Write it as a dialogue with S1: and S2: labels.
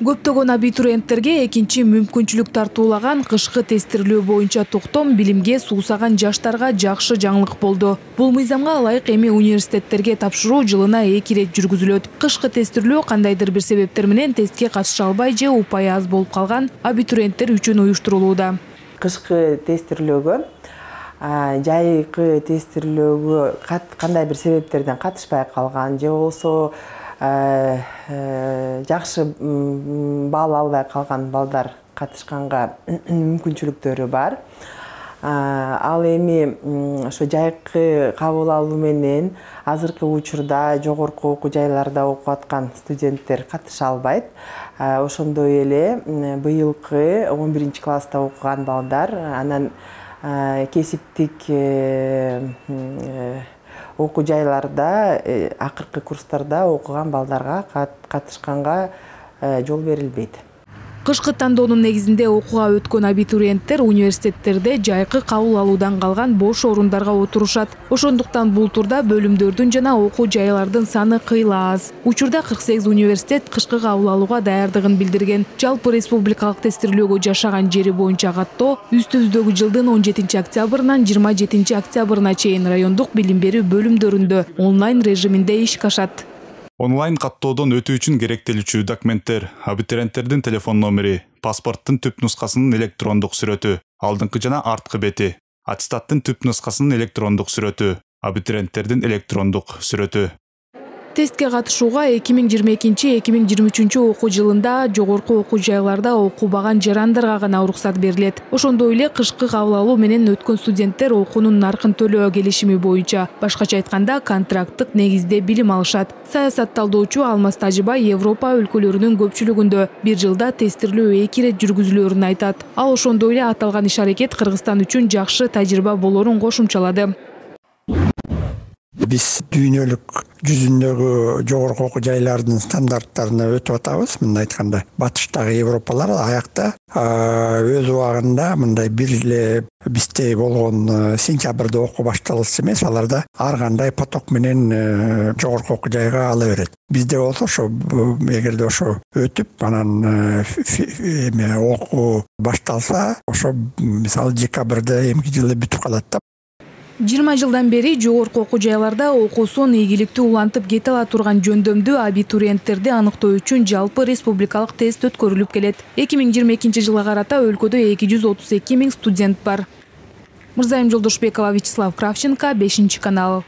S1: Көптөгөн абитуриенттерге экинчи мүмкүнчүлүк тартуулаган кышкы тестирлөө боюнча токтом билимге суусаган жаштарга жакшы жаңылык болду. Бул мыйзамга ылайык эми университеттерге тапшыруу жылына 2 ирет жүргүзүлөт. Кышкы тестирлөө кандайдыр бир себептер менен тестке катыша албай же упайы аз болуп калган абитуриенттер үчүн уюштурулууда.
S2: Кышкы тестирлөөгө жайкы тестирлөөгө кандай бир себептерден катышпай калган же болбосо жакшы балл албай калган балдар катышканга мүмкүнчүлүктөрү бар. Ал эми ошо жайкы кабыл алуу менен азыркы учурда жогорку окуу жайларда окуп аткан студенттер катыша албайт. Ошондой эле быйылкы 11-класста окуган балдар анан кесиптик окуу жайларда акыркы курстарда окуган балдарга катышканга жол берилбейт.
S1: Кышкы тандоонун негизинде окууга өткөн абитуриенттер университеттерде жайкы кабыл алуудан калган бош орундарга отурушат. Ошондуктан бул турда бөлүмдөрдүн жана окуу жайлардын саны кыйла аз. Учурда 48 университет кышкы кабыл алууга даярдыгын билдирген. Жалпы республикалык тестирлөөгө жашаган жери боюнча каттоо үстүбүздөгү жылдын 17 октябрынан 27 октябрына чейин райондук билим берүү бөлүмдөрүндө онлайн режиминде ишке ашат.
S3: Онлайн каттоодон өтүү үчүн керектелүүчү документтер: абитуриенттердин телефон номери, паспорттун түп нускасынын электрондук сүрөтү, алдыңкы жана арткы бети, аттестаттын түп нускасынын электрондук сүрөтү, абитуриенттердин электрондук сүрөтү.
S1: Тестке катышууга 2022-2023 окуу жылында жогорку окуу жайларда окубаган жарандарга гана уруксат берилет. Ошондой эле кышкы кабыл алуу менен өткөн студенттер окуунун наркын төлөө келишими боюнча, башкача айтканда, контракттык негизде билим алышат. Саясат талдоочу Алмаз Тажибай Европа өлкөлөрүнүн көпчүлүгүндө бир жылда тестирлөө 2 ирет жүргүзүлөөрүн айтат. Ал ошондой эле аталган иш-аракет Кыргызстан үчүн жакшы тажрыйба болоорун кошумчалады.
S4: Биз дүйнөлүк жүзүндөгү жогорку окуу жайлардын стандарттарына өтүп атабыз. Мындай айтканда, батыштагы Европалар аякта өз убагында мындай бир эле бизде болгон сентябрда окуу башталысы эмес, аларда ар кандай поток менен жогорку окуу жайга ала берет. Бизде болсо ошо эгерде ошо өтүп, анан окуу башталса, ошо мисалы декабрда эмки жылы бүтүп калат да.
S1: 20 жылдан бери жогорку окуу жайларда окуусун ийгиликтүү улантып кете ала турган жөндөмдүү абитуриенттерди аныктоо үчүн жалпы республикалык тест өткөрүлүп келет. 2022 жылга карата өлкөдө 232 000 студент бар. Мырзайым Жолдошбекова, Вячеслав Кравченко, 5 канал.